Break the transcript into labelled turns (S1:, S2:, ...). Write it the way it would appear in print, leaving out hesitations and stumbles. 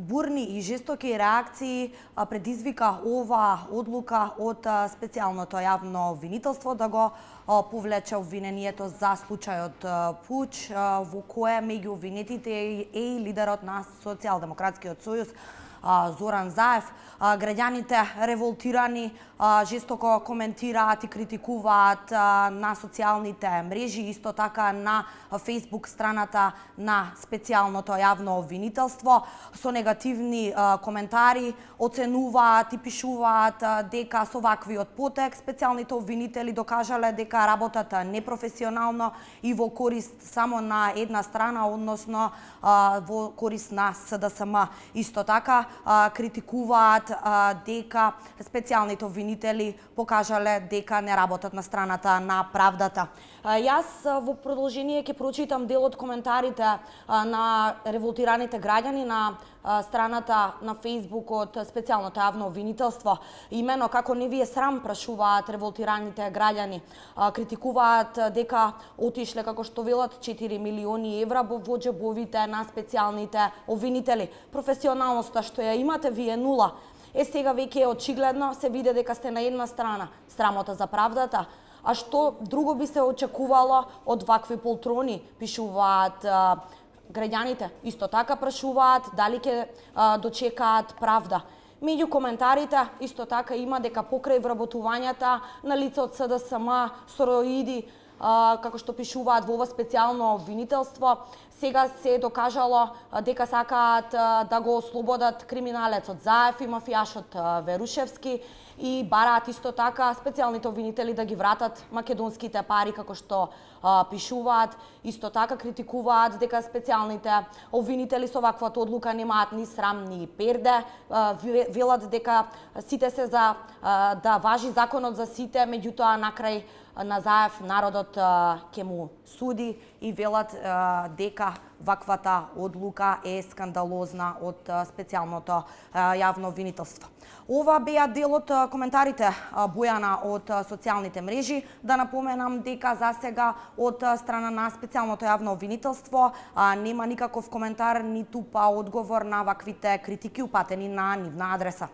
S1: бурни и жестоки реакции предизвика ова одлука од специјалното јавно обвинителство да го повлече обвинението за случајот Пуч, во кое меѓу обвинетите е и лидерот на Социјалдемократскиот сојуз Зоран Заев. Граѓаните револтирани жестоко коментираат и критикуваат на социјалните мрежи, исто така на Facebook страната на специјалното јавно обвинителство. Со негативни коментари оценуваат и пишуваат дека со ваквиот потек специјалните обвинители докажале дека работат непрофесионално и во корист само на една страна, односно во корист на СДСМ. Исто така критикуваат дека специјалните обвинители покажале дека не работат на страната на правдата. Јас во продолжение ќе прочитам дел од коментарите на револтираните граѓани на страната на Facebook од специјалното јавно обвинителство. Имено како не ви е срам, прашуваат револтираните граѓани. Критикуваат дека отишле, како што велат, 4 милиони евра во џебовите на специјалните обвинители. Професионалноста што ја имате ви е нула. Сега веќе е очигледно, се види дека сте на една страна. Срамота за правдата. А што друго би се очекувало од вакви полтрони, пишуваат граѓаните. Исто така прашуваат дали ќе дочекаат правда. Меѓу коментарите исто така има дека покрај вработувањата на лица од СДСМ, сороиди, како што пишуваат во ова специјално обвинителство, сега се докажало дека сакаат да го ослободат криминалецот Заев и мафијашот Верушевски и бараат исто така специјалните обвинители да ги вратат македонските пари, како што пишуваат. Исто така критикуваат дека специјалните обвинители со ваквата одлука немаат ни срам ни перде. Велат дека сите се за да важи законот за сите, меѓутоа накрај на Заев народот ќе му суди и велат дека ваквата одлука е скандалозна од специјалното јавно обвинителство. Ова беа дел од коментарите Бојана од социјалните мрежи. Да напоменам дека за сега од страна на специјалното јавно обвинителство нема никаков коментар ниту одговор на ваквите критики упатени на нивна адреса.